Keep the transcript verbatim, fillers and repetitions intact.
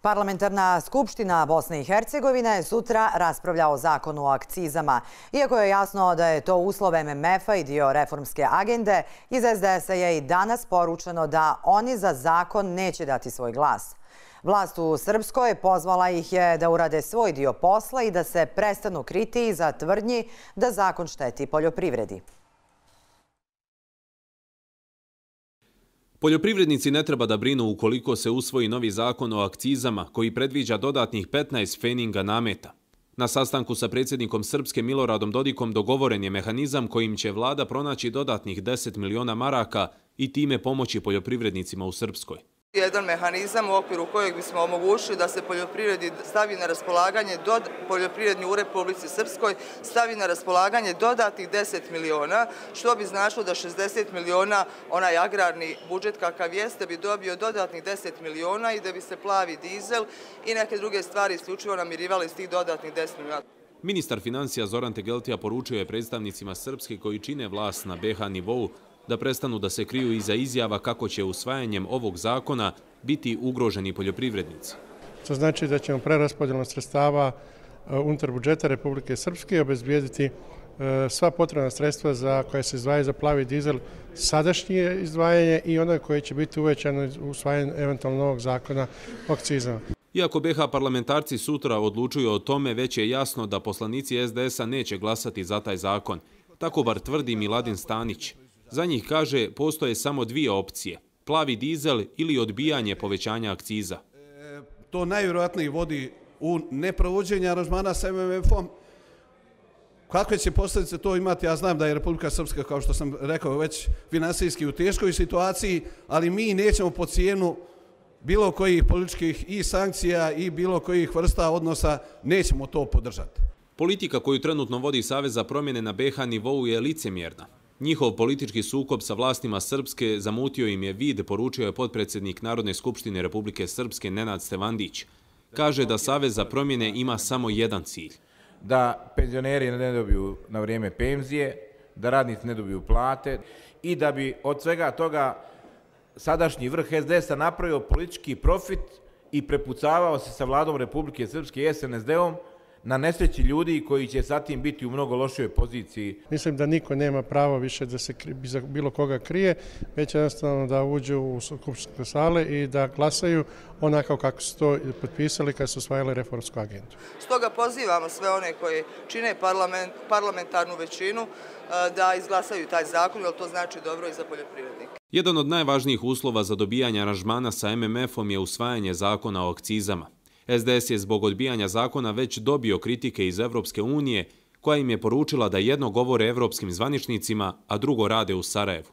Parlamentarna skupština Bosne i Hercegovine sutra raspravlja o zakonu o akcizama. Iako je jasno da je to uslov M M F-a i dio reformske agende, iz S D S-a je i danas poručeno da oni za zakon neće dati svoj glas. Vlast u Srpskoj pozvala ih je da urade svoj dio posla i da se prestanu kriti iza tvrdnji da zakon šteti poljoprivredi. Poljoprivrednici ne treba da brinu ukoliko se usvoji novi zakon o akcizama koji predviđa dodatnih petnaest feninga nameta. Na sastanku sa predsjednikom Srpske Miloradom Dodikom dogovoren je mehanizam kojim će vlada pronaći dodatnih deset miliona maraka i time pomoći poljoprivrednicima u Srpskoj. Jedan mehanizam u okviru kojeg bismo omogućili da se poljoprivredi stavi na raspolaganje, poljoprivredni u Republici Srpskoj stavi na raspolaganje dodatnih deset miliona, što bi značilo da šezdeset miliona, onaj agrarni budžet kakav jeste, bi dobio dodatnih deset miliona i da bi se plavi dizel i neke druge stvari isključivo namirivali iz tih dodatnih deset miliona. Ministar financija Zoran Tegeltija poručio je predstavnicima Srpske koji čine vlast na B H nivou da prestanu da se kriju iza izjava kako će usvajanjem ovog zakona biti ugroženi poljoprivrednici. To znači da ćemo preraspodjelom sredstava unutar budžeta Republike Srpske obezbijediti sva potrebna sredstva za koje se izdvajaju za plavi dizel, sadašnje izdvajanje i ono koje će biti uvećano usvajanjem eventualno novog zakona o akcizama. Iako B H parlamentarci sutra odlučuju o tome, već je jasno da poslanici S D S-a neće glasati za taj zakon. Tako bar tvrdi Miladin Stanić. Za njih, kaže, postoje samo dvije opcije, plavi dizel ili odbijanje povećanja akciza. E, to najvjerojatnije vodi u neprovođenje aranžmana sa M M F-om. Kakve će posljedice to imati? Ja znam da je Republika Srpska, kao što sam rekao, već finansijski u teškoj situaciji, ali mi nećemo po cijenu bilo kojih političkih i sankcija i bilo kojih vrsta odnosa, nećemo to podržati. Politika koju trenutno vodi Savez za promjene na B H nivou je licemjerna. Njihov politički sukob sa vlastima Srpske zamutio im je vid, poručio je potpredsjednik Narodne skupštine Republike Srpske Nenad Stevandić. Kaže da Savez za promjene ima samo jedan cilj. Da penzioneri ne dobiju na vrijeme penzije, da radnici ne dobiju plate i da bi od svega toga sadašnji vrh S D S-a napravio politički profit i prepucavao se sa vladom Republike Srpske i S N S D-om na nesreći ljudi koji će sa tim biti u mnogo lošoj poziciji. Mislim da niko nema pravo više da se za bilo koga krije, već jednostavno da uđu u skupštinske sale i da glasaju onako kako su to potpisali kad su usvajali reformsku agendu. Stoga pozivamo sve one koji čine parlament, parlamentarnu većinu da izglasaju taj zakon, jer to znači dobro i za poljoprivrednike. Jedan od najvažnijih uslova za dobijanje aranžmana sa M M F-om je usvajanje zakona o akcizama. S D S je zbog odbijanja zakona već dobio kritike iz Evropske unije, koja im je poručila da jedno govore evropskim zvaničnicima, a drugo rade u Sarajevu.